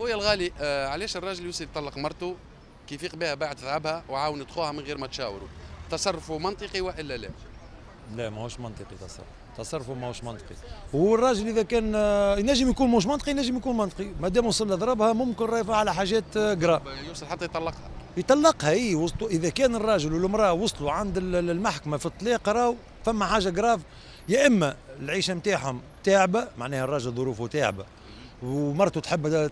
خويا الغالي، علاش الراجل يوصل يطلق مرته كي يفيق بها بعد ذهبها وعاونت خوها من غير ما تشاوروا؟ تصرفه منطقي والا لا؟ لا، ماهوش منطقي تصرفه ماهوش منطقي. والراجل اذا كان ينجم يكون ماهوش منطقي، ينجم يكون منطقي، ما دام وصل لضربها ممكن راهي على حاجات graves. يوصل حتى يطلقها. يطلقها اي، وصلوا اذا كان الراجل والمراة وصلوا عند المحكمة في الطلاق راهو فما حاجة grave، يا اما العيشة نتاعهم تعبه، معناها الراجل ظروفه تعبه ومرته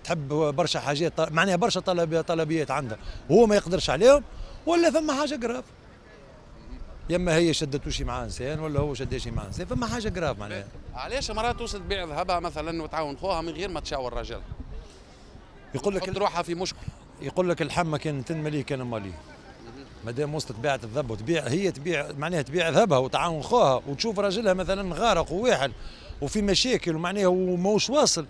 تحب برشا حاجات، معناها برشا طلبيات عندها وهو ما يقدرش عليهم، ولا فما حاجة grave، يا اما هي شدت شي مع انسان ولا هو شد شي مع انسان، فما حاجة grave معناها. علاش المراة توصل تبيع ذهبها مثلا وتعاون خوها من غير ما تشاور راجلها؟ يقول لك روحها في مشكل. يقول لك الحمى كان تنملي كان مالي. ما دام وصلت باعت الذهب وتبيع، هي تبيع معناها تبيع ذهبها وتعاون خوها وتشوف راجلها مثلا غارق وواحل وفي مشاكل ومعناها وماهوش واصل،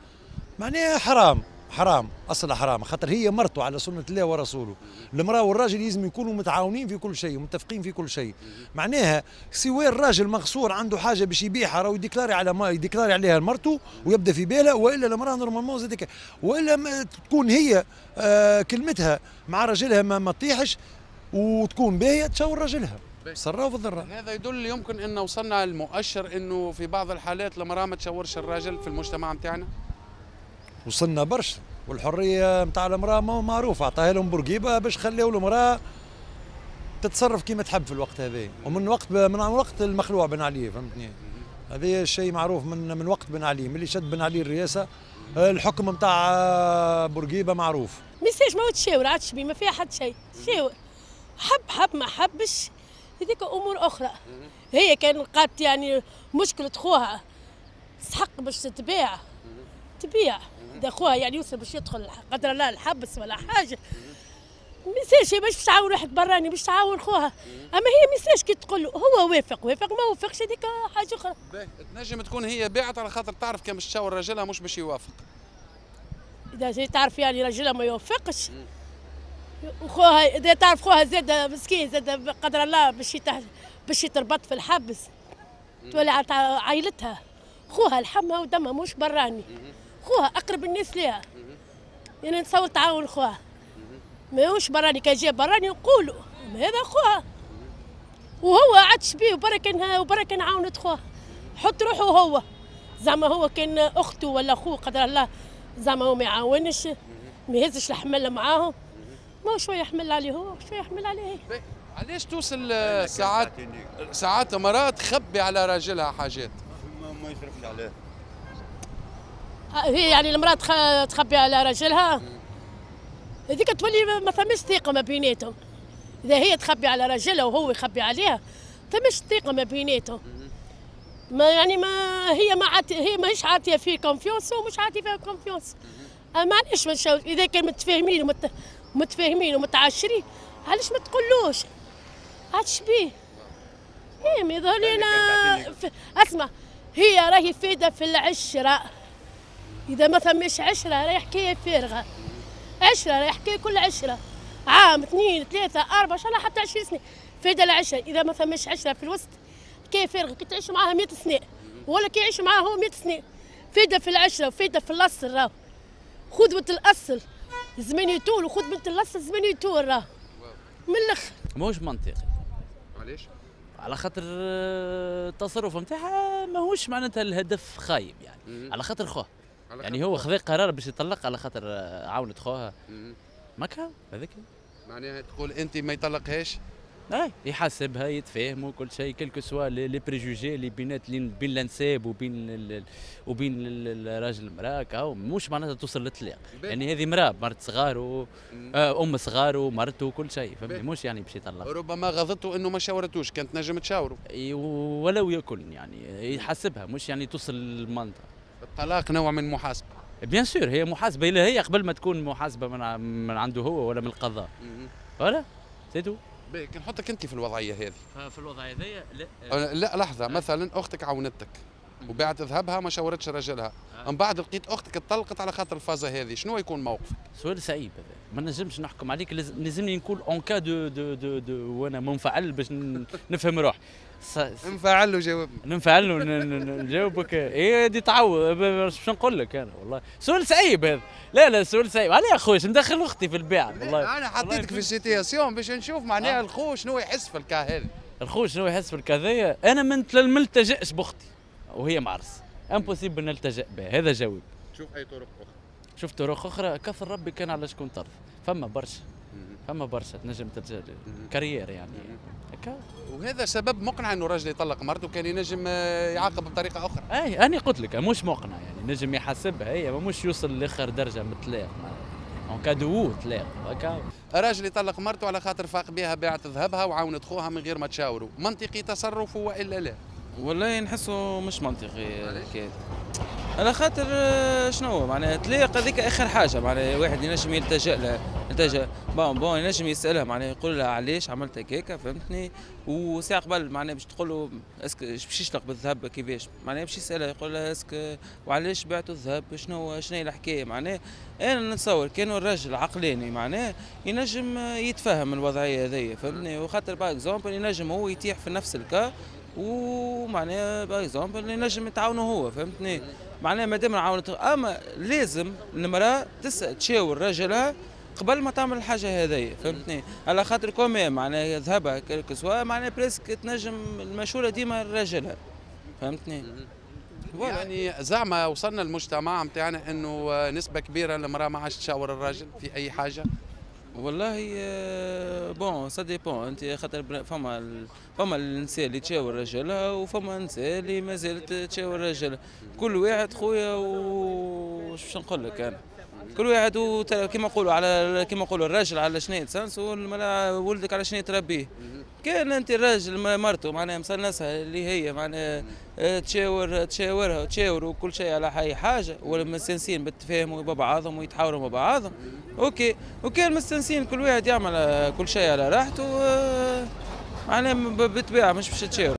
معناها حرام، حرام، اصل حرام، خاطر هي مرته على سنة الله ورسوله. المراة والراجل لازم يكونوا متعاونين في كل شيء ومتفقين في كل شيء. معناها سواء الراجل مغصور عنده حاجة باش يبيعها راهو يديكلاري على ما يديكلاري عليها لمرته ويبدا في بالها، والا المراة normalement زادك، والا ما تكون هي كلمتها مع راجلها ما تطيحش وتكون باهيه تشاور راجلها. سراء وضراء. هذا يدل يمكن ان وصلنا المؤشر انه في بعض الحالات المراة ما تشاورش الراجل في المجتمع نتاعنا. وصلنا برشا، والحرية نتاع المراة معروفة، عطاها لهم بورقيبة باش خلاو المراة تتصرف كيما تحب في الوقت هذا، ومن وقت من وقت المخلوع بن علي، فهمتني؟ هذا الشيء معروف من وقت بن علي، من اللي شد بن علي الرئاسة الحكم نتاع بورقيبة معروف. ميساج ما تشاور عادش بيه، ما فيها حد شيء، شاور حب حب ما حبش هذيك امور اخرى. هي كان لقات يعني مشكلة خوها تستحق باش تتباع تبيع، اذا خوها يعني يوصل باش يدخل قدر الله الحبس ولا حاجة، ميساش هي باش تعاون واحد براني باش تعاون خوها، اما هي ميساش كي تقول له هو وافق وافق ما وافقش هذيك حاجة اخرى. تنجم تكون هي باعت على خاطر تعرف كان باش تشاور راجلها مش باش يوافق. اذا هي تعرف يعني راجلها ما يوافقش وخوها، اذا تعرف خوها زاد مسكين زاد قدر الله باش يتربط في الحبس، تولي عائلتها خوها لحمها ودمها مش براني، خوها اقرب الناس ليها، يعني نتصور تعاون خوها ماهوش براني. كان جا براني نقولوا هذا خوها وهو عادش بيه وبرا كان عاونت خوها، حط روحه هو زعما هو كان اخته ولا خوه قدر الله زعما هو ما يعاونش ما يهزش الحمل معاهم، ما شوية يحمل عليه هو شوية يحمل عليه. علاش توصل ساعات مراة تخبي على راجلها حاجات؟ ما يصرفش عليه. هي يعني المراة تخبي على راجلها هذيك تولي ما ثماش ثقة ما بيناتهم. اذا هي تخبي على راجلها وهو يخبي عليها ثماش ثقة ما بيناتهم. ما يعني ما هي ما هي ماهيش عاطيه فيه confiance ومش عاطيه فيها confiance. معليش ما اذا كان متفاهمين متفاهمين ومتعاشرين علاش ما تقولوش؟ عادش بيه. ايه ما يظهر لي انا اسمع، هي راهي فايده في العشرة. اذا ما ثماش عشرة راهي حكاية فارغة. عشرة راهي حكاية كل عشرة، عام 2 3 4 ان شاء الله حتى 20 سنة فايده العشرة. اذا ما ثماش عشرة في الوسط حكاية فارغة، كي تعيش معاها 100 سنة ولا كي يعيش معاها هو 100 سنة، فايده في العشرة وفايده في الاصل. راهو خذوة الاصل زمان يطول، وخذ بنت الاصل زمان يطول، راه من الاخر ماهوش منطقي. علاش؟ على خاطر التصرف نتاعها ماهوش معناتها الهدف خايب يعني، على خاطر خوه يعني هو خذا قرار باش يطلق على خاطر عاونت خوها ماكا هذاك. معناها تقول انت ما يطلقهاش؟ اي يحاسبها يتفاهموا كل شيء، quels que soient les préjugés اللي بينات بين الانساب وبين الراجل المراة، كاو مش معناتها توصل للطلاق. يعني هذه مراة مرت صغار و ام صغار ومرته وكل شيء، فهمتني؟ مش يعني باش يطلق. ربما غضته انه ما شاورتوش، كانت نجم تشاوره ولو يكن يعني يحاسبها، مش يعني توصل للمنطقة. الطلاق نوع من المحاسبة. bien sûr هي محاسبه هي قبل ما تكون محاسبه من عنده هو ولا من القضاء. voilà c'est tout. باهي نحطك انت في الوضعية هذه. في الوضعية هذه لا لا لحظة، مثلا اختك عاونتك وبعت ذهبها ما شاورتش راجلها، من بعد لقيت اختك اتطلقت على خاطر الفازة هذه، شنو يكون موقفك؟ سؤال صعيب هذا، ما نجمش نحكم عليك، لازمني نكون en cas de de de, de وانا منفعل باش نفهم روحي. انفعل وجاوبني. ننفعل ونجاوبك. ايه دي تعوض، باش نقول لك انا والله سؤال صعيب هذا. لا لا سؤال صعيب، علاه يا خويا ندخل اختي في البيع؟ والله انا حطيتك في ال situation باش نشوف معناها الخو شنو يحس في ال cas هذا. الخو شنو يحس في ال cas هذايا؟ انا ما نلتجئش باختي وهي معرس، impossible نلتجئ بها، هذا جواب. شوف اي طرق اخرى. شوف طرق اخرى، كثر ربي كان على شكون ترضى، فما برشا، فما برشا تنجم تلجأ carrière يعني هكا. وهذا سبب مقنع انه الراجل يطلق مرته، كان ينجم يعاقب بطريقة اخرى. اي انا قلت لك مش مقنع، يعني نجم يحاسبها هي، مش يوصل لاخر درجه من الطلاق، en cas de طلاق هكا. راجل يطلق مرته على خاطر فاق بها باعت ذهبها وعاونت خوها من غير ما تشاوروا، منطقي تصرفه والا لا؟ والله نحسه مش منطقي الحكاية، على خاطر شنو معناها طلاق هذيك اخر حاجة، معناها واحد ينجم يلتجئ لها، يلتجئ bon ينجم يسالها معناها يقول لها علاش عملت هكاك، فهمتني؟ وساعة قبل معناها باش تقول له est-ce que باش يشلق بالذهب كيفاش، معناها باش يسالها يقول لها est-ce que وعلاش بعتوا الذهب، شنو هي الحكاية. معناها انا نتصور كانوا الرجل عقلاني معناها ينجم يتفهم الوضعية هذيا، فهمتني؟ وخاطر par exemple ينجم هو يتيح في نفس ال cas، ومعناها par exemple ينجم يتعاونوا هو، فهمتني؟ معناها مادام عاونت، اما لازم المراة تسال تشاور رجلها قبل ما تعمل الحاجة هذيا، فهمتني؟ على خاطر quand même معناها ذهبها quel que soit معناها presque تنجم المشورة ديما لراجلها، فهمتني؟ يعني زعما وصلنا المجتمع نتاعنا انه نسبه كبيرة المراة ما عادش تشاور الراجل في اي حاجة؟ والله bon ça dépend، انت خاطر فما النساء اللي تشاور رجلها وفما النساء اللي ما زالت تشاور رجلها، كل واحد خويا وش باش نقول لك انا، كل واحد كيما نقولوا على كيما نقولوا الراجل على شنو يتسنس والمرأة ولدك على شنو تربيه. كان انت الراجل مرته معناها مسنسها اللي هي معناها تشاورها وتشاور وكل شيء على اي حاجة، ولا مستنسين بالتفاهم مع بعضهم ويتحاوروا مع بعضهم، OK. وكان مستنسين كل واحد يعمل كل شيء على راحته، معناها بالطبيعة مش باش تشاور.